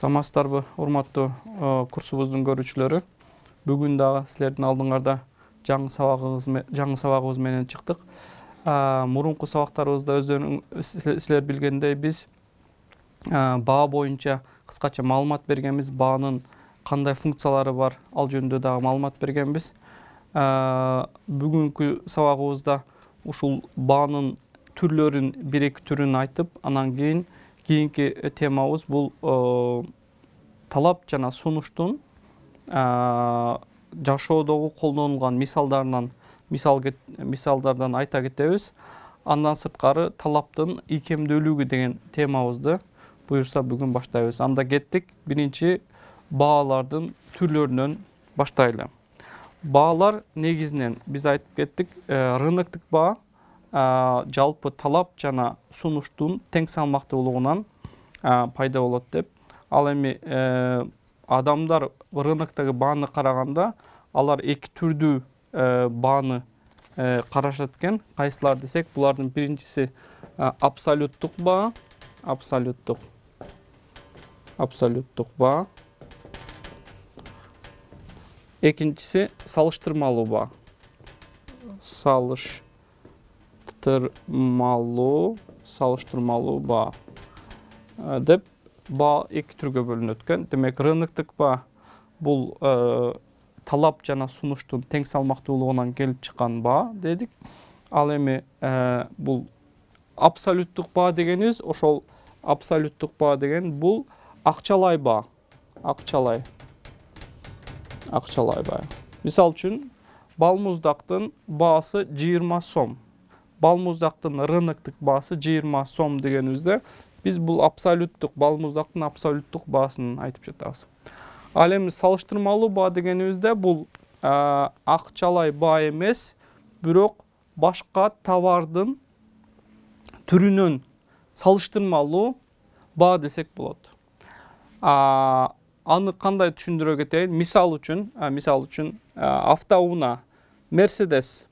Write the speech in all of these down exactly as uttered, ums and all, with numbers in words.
Саламатсыздарбы, урматтуу курсубуздун көрүүчүлөрү. Бүгүн дагы силердин алдыңарда жаңы сабагыбыз жаңы сабагыбыз менен чыктык. Мурунку сабактарыбызда өздөрүң силер билгендей биз баа боюнча кыскача маалымат бергенбиз. Баанын кандай функциялары бар, ал жөнүндө дагы маалымат бергенбиз. Бүгүнкү сабагыбызда ушул баанын түрлөрүн, бир-эки түрүн айтып, анан кийин кийинки темабыз бул талап жана сунуштун жашоодогу колдонулган мисалдарынан мисал мисалдардан айта кетебиз. Андан сырткары талаптын ийкемдүүлүгү деген темабызды буюрса бүгүн баштайбыз. Анда кеттик. Биринчи баалардын түрлөрүнөн баштайлы. Баалар негизинен биз айтып кеттик, рыноктук баа жалпы талап жана сунуштун тең салмактуулугунан пайда болот деп. Ал эми адамдар рыноктогу бааны караганда алар эки түрдүү бааны карашат экен. Кайсылар десек, булардын биринчиси абсолюттук баа, абсолюттук абсолюттук баа. Экинчиси салыштырмалуу баа. Салыш Салыштырмалуу, салыштырмалуу баа деп баа эки түргө бөлүнөт экен. Демек, рыноктук баа бул талап жана сунуштун тең салмактуулугунан келип чыккан баа дедик. Ал эми бул абсолюттук баа дегенибиз, ошол абсолюттук баа деген бул акчалай баа. Акчалай. Акчалай баа. Мисал үчүн, балмуздактын баасы жыйырма сом. Балмуздактын рыноктук баасы жыйырма сом дегенибизде биз бул абсолюттук балмуздактын абсолюттук баасын айтып жатабыз. Ал эми салыштырмалуу баа дегенибизде бул акчалай баа эмес, бирок башка товардын түрүнөн салыштырмалуу баа десек болот. Аны кандай түшүндүрө кетейин? Мисал үчүн, мисал үчүн автоунаа Мерседес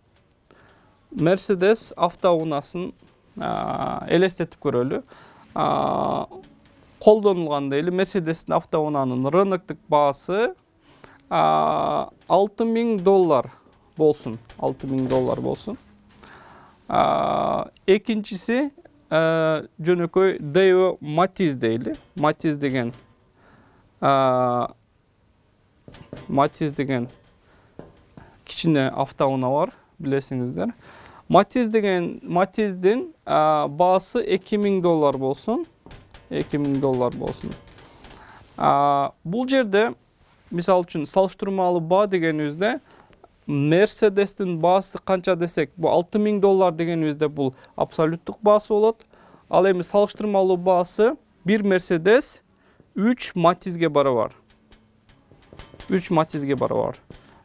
Мерседес автоунаасын элестетип көрөлү. Колдонулганда эле Мерседестин автоунаанын рыноктук баасы алты миң доллар болсун. алты миң доллар болсун. Экинчиси жөнөкөй Daewoo Matiz дейли. Matiz деген Matiz деген кичине автоунаа бар, билесиңиздер. Matiz деген Matiz'дин баасы эки миң доллар болсун. эки миң доллар болсун. Бул жерде мисал үчүн салыштырмалуу баа дегенибизде Мерседестин баасы канча десек, бул алты миң доллар дегенибизде бул абсолюттук баасы болот. Ал эми салыштырмалуу баасы бир Мерседес үч Matiz'ге барабар. үч Matiz'ге барабар.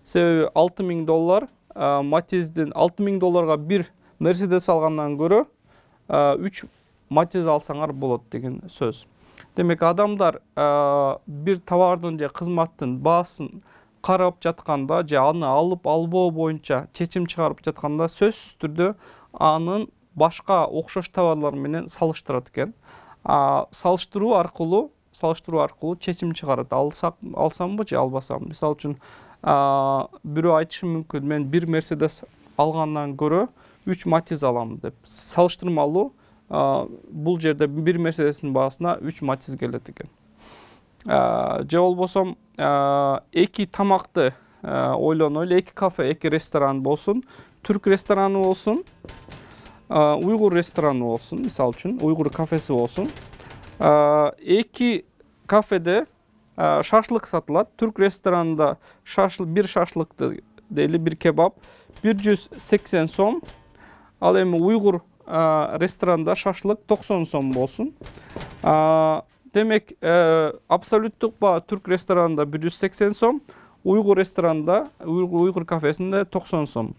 Себеби алты миң доллар Matiz'дин алты миң долларга бир Мерседес алгандан көрө үч Matiz алсаңар болот деген сөз. Демек, адамдар бир товардын же кызматтын баасын карап жатканда же аны алып албоо боюнча чечим чыгарып жатканда сөзсүз түрдө анын башка окшош товарлар менен салыштырат экен. Салыштыруу аркылуу салыштыруу аркылуу чечим чыгарат. Алсамбы же албасам. Мисал үчүн, бирөө айтышы мүмкүн, мен бир Мерседес алгандан көрө үч Matiz алам деп. Салыштырмалуу бул жерде бир Мерседестин баасына үч Matiz келет экен. Же болбосо эки тамакты ойлонойлу, эки кафе, эки ресторан болсун, түрк рестораны болсун, уйгур рестораны болсун, мисал үчүн, уйгур кафеси болсун. Эки кафеде шашлык сатылат. Түрк ресторанында шашлык, бир шашлыкты дейли, бир кебаб бир жүз сексен сом. Ал эми уйгур ресторанда шашлык токсон сом болсун. Демек, абсолюттук баа түрк ресторанында бир жүз сексен сом, уйгур ресторанында, уйгур кафесинде токсон сом.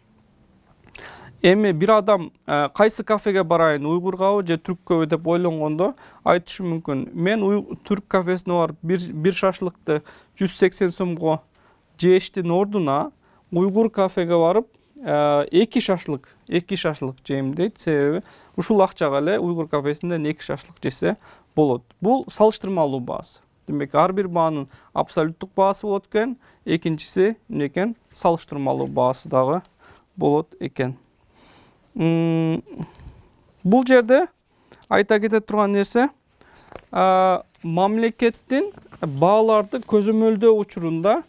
Эми бир адам кайсы кафеге барайын, уйгургабы же түрккөбү деп ойлонгондо айтышы мүмкүн. Мен түрк кафесине барып бир шашлыкты жүз сексен сомго жештин ордуна уйгур кафеге барып эки шашлык, эки шашлык жейм дейт. Себеби ушул акчага эле уйгур кафесинде эки шашлык жесе болот. Бул салыштырмалуу баасы. Демек ар бир баанын абсолюттук баасы болот экен, экинчиси эмне экен? Салыштырмалуу баасы дагы болот экен. Бул жерде айта кете турган нерсе, мамлекеттин бааларды көзөмөлдөө учурунда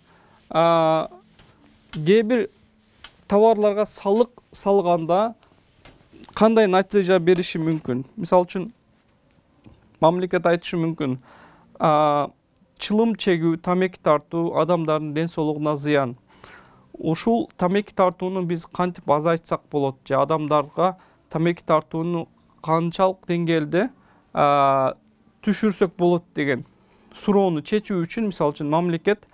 кээ бир товарларга салык салганда кандай натыйжа бериши мүмкүн? Мисалы үчүн мамлекет айтышы мүмкүн, чылым чегүү, тамеки тартуу адамдардын ден соолугуна зыян. Ушул тамеки тартууну биз кантип азайтсак болот же адамдарга тамеки тартууну канчалык деңгээлде түшүрсөк болот деген суроону чечүү үчүн мисалы үчүн мамлекет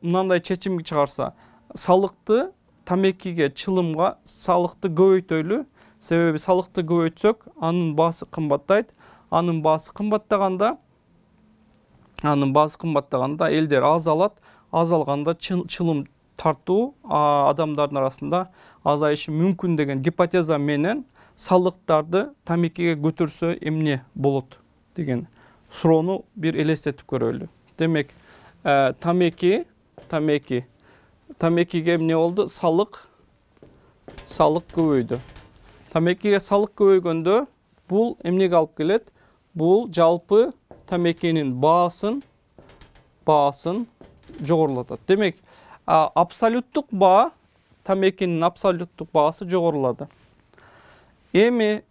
мындай чечим чыгарса, салыкты тамекиге, чылымга салыкты көбөйтөлү. Себеби салыкты көбөйтсөк, анын баасы кымбаттайт. Анын баасы кымбаттаганда, анын баасы кымбаттаганда элдер аз алат. Аз алганда чылым тартуу адамдардын арасында азайышы мүмкүн деген гипотеза менен салыктарды тамекиге көтөрсө эмне болот деген суроону бир элестетип көрөлү. Демек, тамеки, тамеки, тамекиге эмне болду? Салык, салык көбөйдү. Тамекиге салык көбөйгөндө бул эмнеге алып келет? Бул жалпы тамекинин баасын, баасын жогорулатат. Демек, абсолюттук баа, тамекинин абсолюттук баасы жогорулады. Эми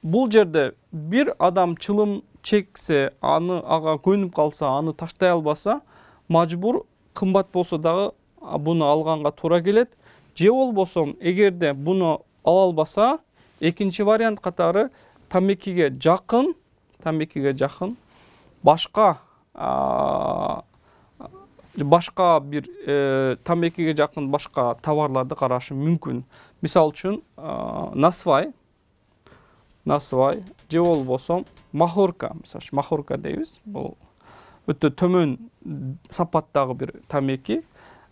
бул жерде бир адам чылым чексе, аны ага көнүп калса, аны таштай албаса, мажбур кымбат болсо дагы буну алганга туура келет. Же болбосо, эгерде буну ала албаса, экинчи вариант катары тамекиге жакын, тамекиге жакын башка башка бир тамекиге жакын башка товарларды карашы мүмкүн. Мисалы үчүн, насвай, насвай же болбосо махорка, мисалы үчүн махорка дейбиз. Бул өтө төмөн сапаттагы бир тамеки.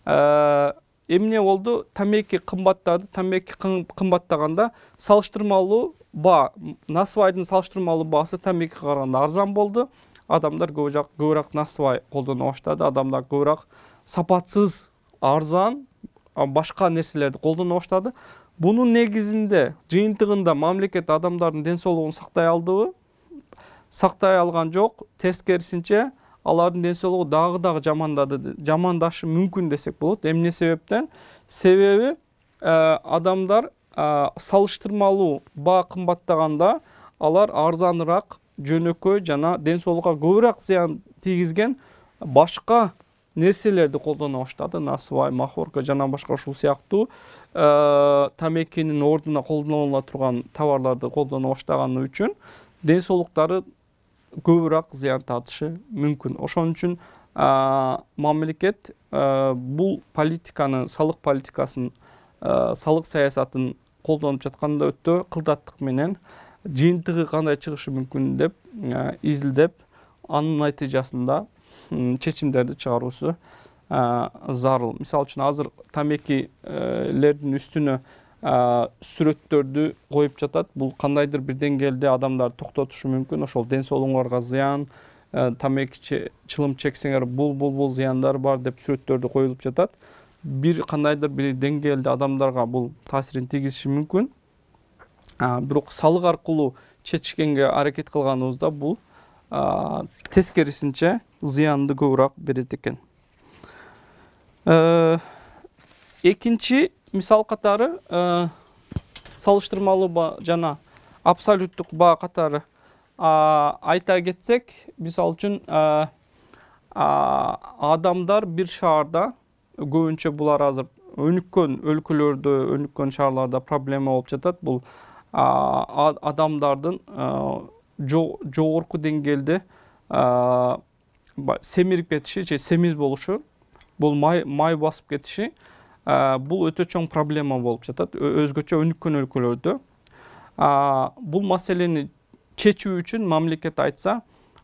Эмне болду? Тамеки кымбаттады. Тамеки кымбаттаганда салыштырмалуу баа, насвайдын салыштырмалуу баасы тамекиге караганда арзан болду. Адамдар көбүрөөк насвай колдоно баштады. Адамдар көбүрөөк сапатсыз, арзан башка нерселерди колдоно баштады. Бунун негизинде, жыйынтыгында мамлекет адамдардын ден соолугун сактай алдыбы? Сактай алган жок. Тескерисинче, алардын ден соолугу дагы дагы жамандады, жамандашы мүмкүн десек болот. Эмне себептен? Себеби адамдар салыштырмалуу баа кымбаттаганда алар арзаныраак, жөнөкөй жана ден соолукка көбүрөөк зыян тийгизген башка нерселерди колдоно баштады. Насвай, махорка жана башка ушул сыяктуу тамекинин ордуна колдонула турган товарларды колдоно баштаганы үчүн ден соолуктары көбүрөөк зыян тартышы мүмкүн. Ошон үчүн мамлекет бул политиканы, салык политикасын, салык саясатын колдонуп жатканда өтө кылдаттык менен жыйынтыгы кандай чыгышы мүмкүн деп изилдеп, анын натыйжасында чечимдерди чыгаруусу зарыл. Мисалы үчүн азыр тамекилердин үстүнө сүрөттөрдү коюп жатат. Бул кандайдыр бир деңгээлде адамдар токтотушу мүмкүн. Ошол ден соолугуңарга зыян, тамеки чылым чексеңер бул бул бул зыяндар бар деп сүрөттөрдү коюлуп жатат. Бир кандайдыр бир деңгээлде адамдарга бул таасирин тийгизиши мүмкүн. Бирок салык аркылуу чечкенге аракет кылганыбызда бул тескерисинче зыянды көбүрөөк берет экен. Экинчи мисал катары салыштырмалуу баа жана абсолюттук баа катары айта кетсек, мисалы үчүн адамдар бир шаарда, көбүнчө булар азыр өнүккөн өлкөлөрдө, өнүккөн шаарларда проблема болуп жатат. Бул адамдардын жогорку деңгээлде семирип кетиши же семиз болушу, бул май басып кетиши, бул өтө чоң проблема болуп жатат өзгөчө өнүккөн өлкөлөрдө. Бул маселени чечүү үчүн мамлекет айтса,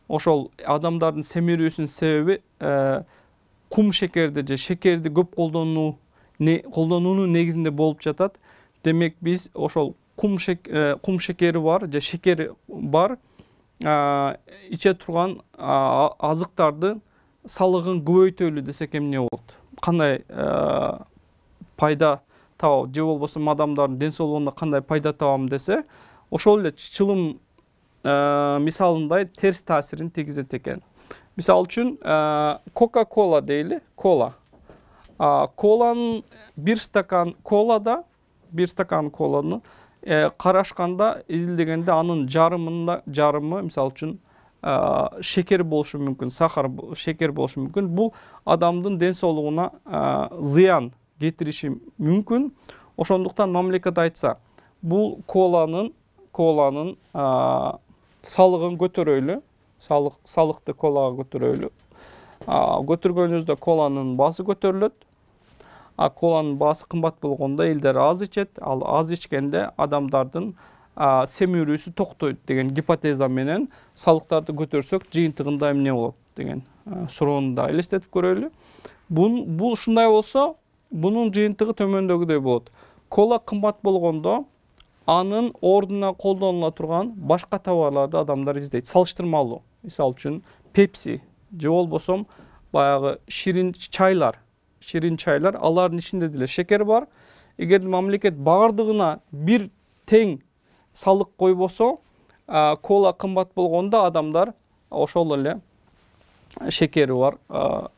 ошол адамдардын семирүүсүнүн себеби кум шекерди же шекерди көп колдонуу колдонуунун негизинде болуп жатат. Демек биз ошол кум шекери бар же шекер бар, иче турган азыктардын салыгын көбөйтөлү десек эмне болот? Кандай пайда табабы же болбосо адамдардын ден соолугуна кандай пайда табам десе, ошол эле чылым мисалындай терс таасирин тийгизет экен. Мисалы үчүн Coca-Cola дейли, кола. Коланын бир стакан колада, бир стакан коланы карашканда изилдегенде анын жарымында жарымы мисалы үчүн шекер болушу мүмкүн, сахар, шекер болушу мүмкүн. Бул адамдын ден соолугуна зыян кетириши мүмкүн. Ошондуктан мамлекет айтса, бул коланын коланын салыгын көтөрөлү, салык салыкты колага көтөрөлү. Көтөргөнүбүздө коланын баасы көтөрүлөт. А коланын баасы кымбат болгондо элдер аз ичет, ал аз ичкенде адамдардын семирүүсү токтойт деген гипотеза менен салыктарды көтөрсөк, жыйынтыгында эмне болот деген суроону да элестетип көрөлү. Бул бул ушундай болсо, бунун жыйынтыгы төмөндөгүдөй болот. Кола кымбат болгондо анын ордуна колдонула турган башка товарларды адамдар издейт. Салыштырмалуу. Мисалы үчүн Pepsi же болбосо баягы ширин чайлар, ширин чайлар, алардын ичинде деле шекер бар. Эгер мамлекет бардыгына бир тең салык койбосо, кола кымбат болгондо адамдар ошол эле шекери бар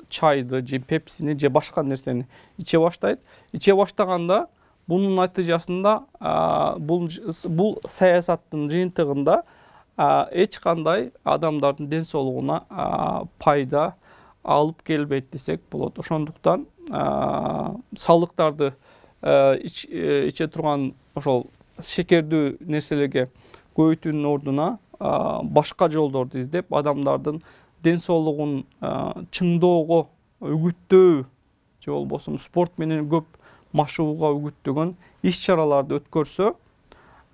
чайды же пепсини же башка нерсени иче баштайт. Иче баштаганда бунун натыйжасында бул бул саясаттын жыйынтыгында эч кандай адамдардын ден соолугуна пайда алып келбейт десек болот. Ошондуктан салыктарды иче турган ошол шекердүү нерселерге көбөйтүүнүн ордуна башка жолдорду издеп, адамдардын ден соолугун чыңдоого, үгүттөө же болбосо спорт менен көп машыгууга үгүттөгөн иш-чараларды өткөрсө,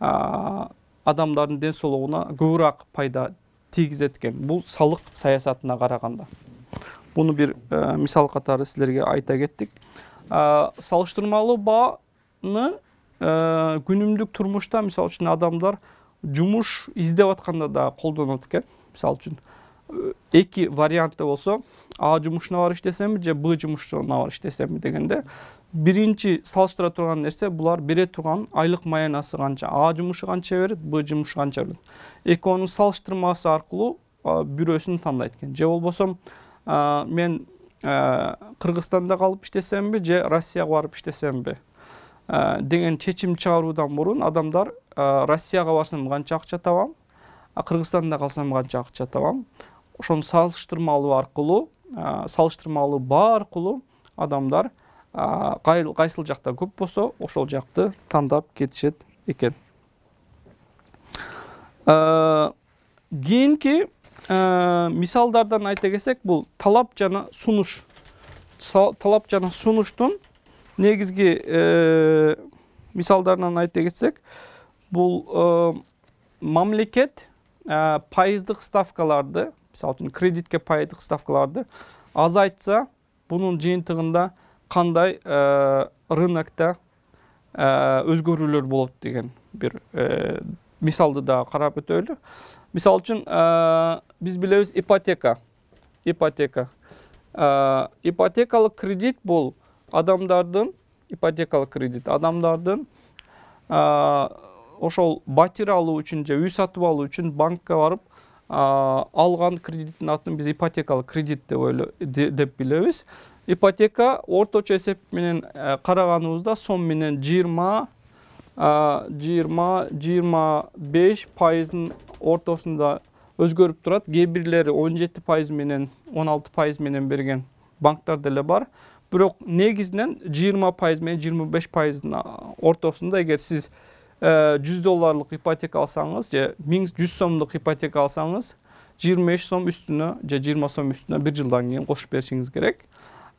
адамдардын ден соолугуна көбүрөөк пайда тийгизет экен. Бул салык саясатына караганда. Буну бир мисал катары силерге айта кеттик. Салыштырмалуу бааны күнүмдүк турмушта мисалы үчүн адамдар жумуш издеп атканда да колдонот экен. Мисалы үчүн эки варианты болсо, А жумушуна барып иштесемби же Б жумушуна барып иштесемби дегенде, биринчи салыштыра турган нерсе булар бере турган айлык маянасы канча, А жумушу канча берет, Б жумушу канча берет. Экөөнүн салыштырмасы аркылуу бирөөсүн тандайт экен. Же болбосо мен Кыргызстанда калып иштесемби же Россияга барып иштесемби деген чечим чыгаруудан мурун адамдар Россияга барсам канча акча табам, а Кыргызстанда калсам канча акча табам. Ошону салыштырмалуу аркылуу, салыштырмалуу баа аркылуу адамдар кайсыл жакта көп болсо, ошол жакты тандап кетишет экен. Кийинки мисалдардан айта келсек, бул талап жана сунуш. Талап жана сунуштун негизги мисалдарынан айта кетсек, бул мамлекет пайыздык ставкаларды, мисалы үчүн кредитке пайыздык ставкаларды азайтса, бунун жыйынтыгында кандай рынокто өзгөрүүлөр болот деген бир мисалды да карап өтөлү. Мисалы үчүн биз билебиз ипотека. Ипотека. Ипотекалык кредит бул адамдардын ипотекалык кредит адамдардын ошол батир алуу үчүн же үй сатып алуу үчүн банкка барып алган кредиттин атын биз ипотекалык кредит деп деп билебиз. Ипотека орточо эсеп менен караганыбызда сом менен жыйырма жыйырма жыйырма беш пайыздын ортосунда өзгөрүп турат. Кээ бирлери он жети пайыз менен он алты пайыз менен берген банктар деле бар. Бирок негизинен жыйырма пайыз менен жыйырма беш пайыздын ортосунда эгер сиз жүз долларлык ипотека алсаңыз же жүз сомдук ипотека алсаңыз, жыйырма беш сом үстүнө же жыйырма сом үстүнө бир жылдан кийин кошуп беришиңиз керек.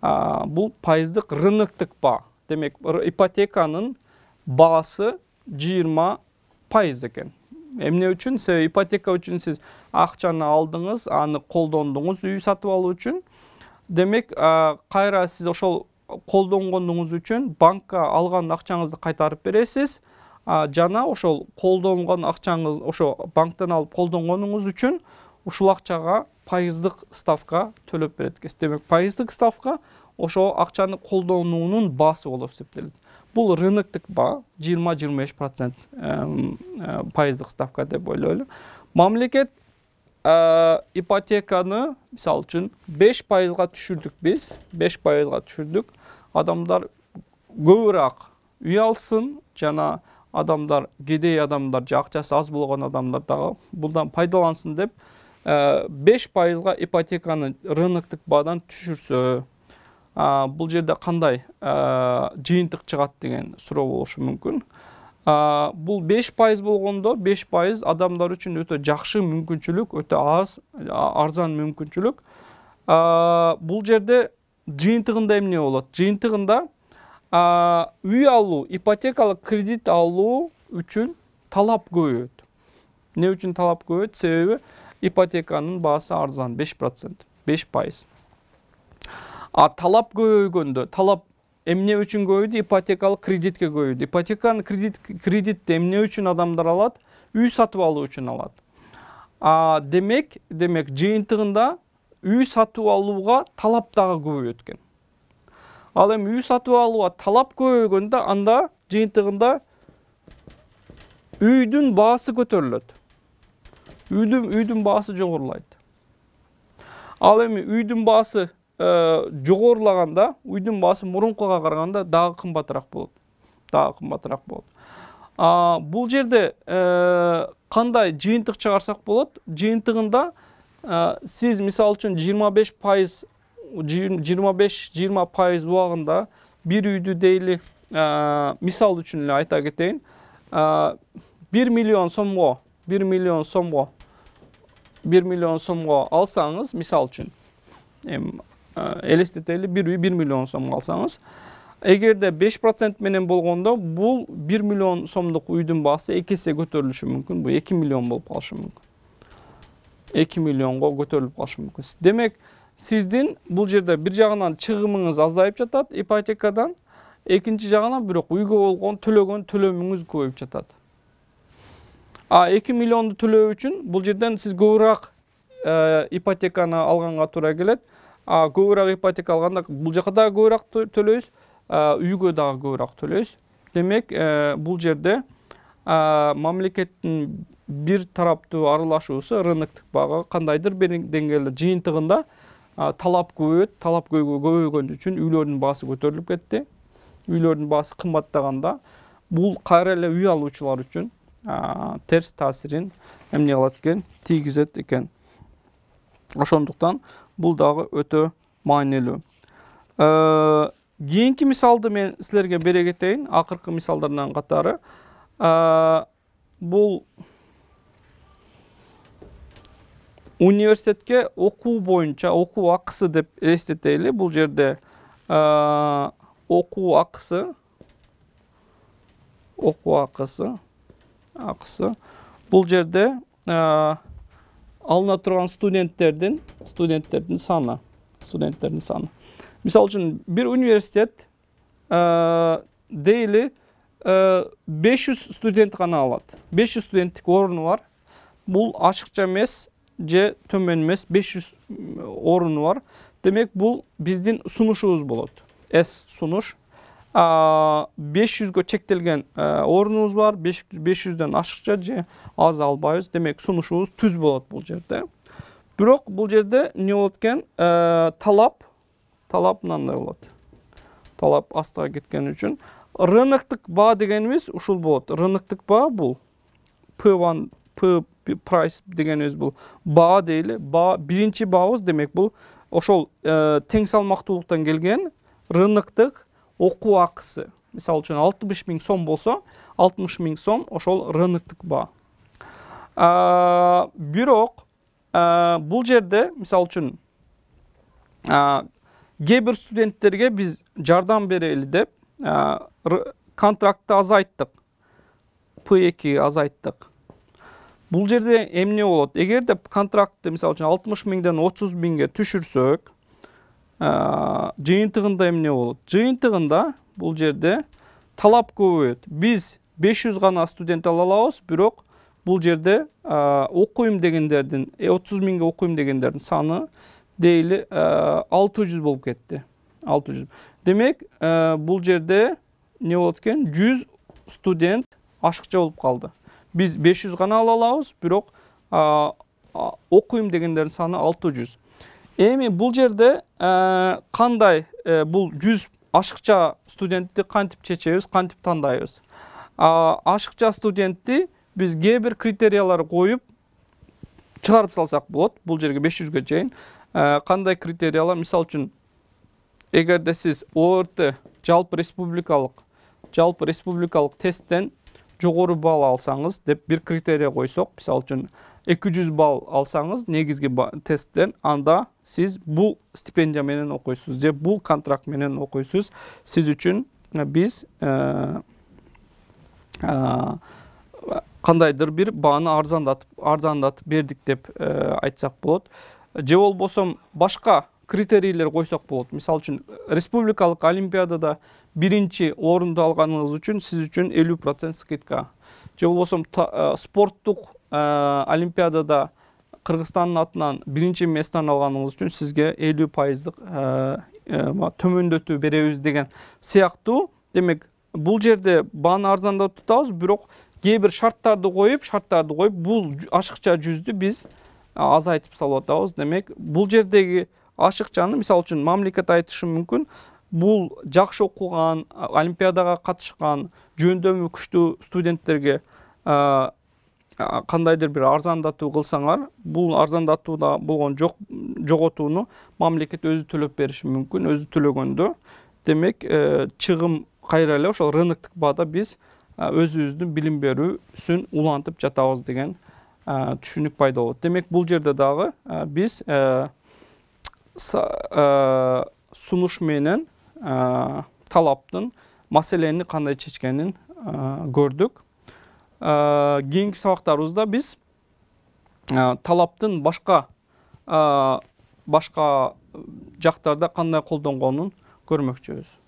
Бул пайыздык рыноктук баа. Демек, ипотеканын баасы жыйырма пайыз экен. Эмне үчүн? Себеби ипотека үчүн сиз акчаны алдыңыз, аны колдондуңуз үй сатып алуу үчүн. Демек, кайра сиз ошол колдонгонуңуз үчүн банкка алган акчаңызды кайтарып бересиз. жана ошол колдонгон акчаңыз, ошо банктан алып колдонгонуңуз үчүн ушул акчага пайыздык ставка төлөп берет экенсиз. Демек, пайыздык ставка ошо акчаны колдонуунун баасы болуп эсептелет. Бул рыноктук баа жыйырма жыйырма беш процент пайыздык ставка деп ойлойлу. Мамлекет ипотеканы мисалы үчүн беш пайызга түшүрдүк биз, беш пайызга түшүрдүк. Адамдар көбүрөөк үй алсын, жана адамдар, кедей адамдар, же акчасы аз болгон адамдар дагы булдан пайдалансын деп беш пайызга ипотеканы рыноктук баадан түшүрсө, бул жерде кандай жыйынтык чыгат деген суроо болушу мүмкүн. Бул беш пайыз болгондо, беш пайыз адамдар үчүн өтө жакшы мүмкүнчүлүк, өтө аз, арзан мүмкүнчүлүк. Бул жерде жыйынтыгында эмне болот? Жыйынтыгында үй алуу, ипотекалык кредит алуу үчүн талап көбөйөт. Эмне үчүн талап көбөйөт? Себеби ипотеканын баасы арзан, беш процент, беш пайыз. А талап көбөйгөндө, талап эмне үчүн көбөйдү? Ипотекалык кредитке көбөйдү. Ипотеканы кредит кредитти эмне үчүн адамдар алат? Үй сатып алуу үчүн алат. А демек, демек жыйынтыгында үй сатып алууга талап дагы көбөйөт экен. Ал эми үй сатып алууга талап көбөйгөндө анда жыйынтыгында үйдүн баасы көтөрүлөт. Үйдүн үйдүн баасы жогорулайт. Ал эми үйдүн баасы жогорулаганда, үйдүн баасы мурункуга караганда дагы кымбатыраак болот. Дагы кымбатыраак болот. Бул жерде кандай жыйынтык чыгарсак болот? Жыйынтыгында сиз мисалы үчүн жыйырма беш пайыз, жыйырма беш жыйырма пайыз убагында бир үйдү дейли, мисал үчүн эле айта кетейин, бир миллион сомго, бир миллион сомго, бир миллион сомго алсаңыз, мисал үчүн, эми элестетели, бир үй бир миллион сомго алсаңыз, эгерде беш процент менен болгондо, бул бир миллион сомдук үйдүн баасы эки эсе көтөрүлүшү мүмкүн. Бул эки миллион болуп калышы мүмкүн. эки миллионго көтөрүлүп калышы мүмкүн. Демек, сиздин бул жерде бир жагынан чыгымыңыз азайып жатат ипотекадан, экинчи жагынан бирок үйгө болгон төлөгөн төлөмүңүз көбөйүп жатат. А эки миллионду төлөө үчүн бул жерден сиз көбүрөөк ипотеканы алганга туура келет. А көбүрөөк ипотека алганда бул жака дагы көбүрөөк төлөйсүз, үйгө дагы көбүрөөк төлөйсүз. Демек, бул жерде мамлекеттин бир тараптуу аралашуусу рыноктук баага кандайдыр бир деңгээлде жыйынтыгында талап көбөйөт, талап көбөйгөн үчүн үйлөрдүн баасы көтөрүлүп кетти. Үйлөрдүн баасы кымбаттаганда бул кайра эле үй алуучулар үчүн терс таасирин эмне кылат экен? Тийгизет экен. Ошондуктан бул дагы өтө маанилүү. Кийинки мисалды мен силерге бере кетейин, акыркы мисалдардан катары. Бул университетке окуу боюнча, окуу акысы деп элестетели. Бул жерде окуу акысы, окуу акысы, акысы. Бул жерде алына турган студенттердин, студенттердин саны, студенттердин саны. Мисалы үчүн, бир университет дейли беш жүз студент гана алат. беш жүз студенттик оруну бар. Бул ашыкча эмес же төмөн эмес, беш жүз оруну бар. Демек, бул биздин сунушубуз болот. С сунуш. беш жүзгө чектелген орунубуз бар. беш жүздөн ашыкча же аз албайбыз. Демек, сунушубуз түз болот бул жерде. Бирок бул жерде эмне болот экен? Талап, талап мындай болот. Талап астыга кеткен үчүн рыноктук баа дегенибиз ушул болот. Рыноктук баа бул P один, P price дегенибиз бул баа дейли. Баа биринчи баабыз, демек бул ошол тең салмактуулуктан келген рыноктук окуу акысы. Мисалы үчүн алтымыш миң сом болсо, алтымыш миң сом ошол рыноктук баа. Бирок бул жерде мисалы үчүн кээ бир студенттерге биз жардам берели деп контрактты азайттык. P эки азайттык. Бул жерде эмне болот? Эгерде контрактты мисалы үчүн алтымыш миңден отуз миңге түшүрсөк, жыйынтыгында эмне болот? Жыйынтыгында бул жерде талап көбөйөт. Биз беш жүз гана студент ала алабыз, бирок бул жерде окуйм дегендердин, отуз миңге окуйм дегендердин саны дейли алты жүз болуп кетти. алты жүз. Демек, бул жерде не болот экен? жүз студент ашыкча болуп калды. Биз беш жүз гана ала алабыз, бирок окуйм дегендердин саны алты жүз. Эми бул жерде кандай бул жүз ашыкча студентти кантип чечебиз, кантип тандайбыз? Ашыкча студентти биз кээ бир критериялар коюп чыгарып салсак болот. Бул жерге беш жүзгө чейин. Кандай критериялар? Мисалы үчүн, эгерде сиз О Р Т жалпы республикалык, жалпы республикалык тесттен жогору балл алсаңыз деп бир критерия койсок, мисалы үчүн эки жүз балл алсаңыз негизги тесттен, анда сиз бул стипендия менен окуйсуз же бул контракт менен окуйсуз. Сиз үчүн биз кандайдыр бир бааны арзандатып арзандатып бердик деп айтсак болот. Же болбосо башка критерийлер койсок болот. Мисалы үчүн, республикалык олимпиадада биринчи орунду алганыңыз үчүн сиз үчүн элүү процент скидка. Же болбосо спорттук олимпиадада Кыргызстандын атынан биринчи местаны алганыңыз үчүн сизге элүү пайыздык төмөндөтүү беребиз деген сыяктуу. Демек, бул жерде бааны арзандатып атабыз, бирок кээ бир шарттарды коюп, шарттарды коюп, бул ашыкча жүздү биз азайтып салып атабыз. Демек, бул жердеги ашыкчаны, мисалы үчүн, мамлекет айтышы мүмкүн, бул жакшы окуган, олимпиадага катышкан, жөндөмү күчтүү студенттерге кандайдыр бир арзандатуу кылсаңар, бул арзандатууда болгон жок жоготууну мамлекет өзү төлөп бериши мүмкүн, өзү төлөгөндө. Демек, чыгым кайра эле ошол рыноктук баада биз өзүбүздүн билим берүүсүн улантып жатабыз деген түшүнүк пайда болот. Демек, бул жерде дагы биз сунуш менен талаптын маселени кандай чечкенин көрдүк. Кийинки сабактарыбызда биз талаптын башка башка жактарда кандай колдонгонун көрмөкчүбүз.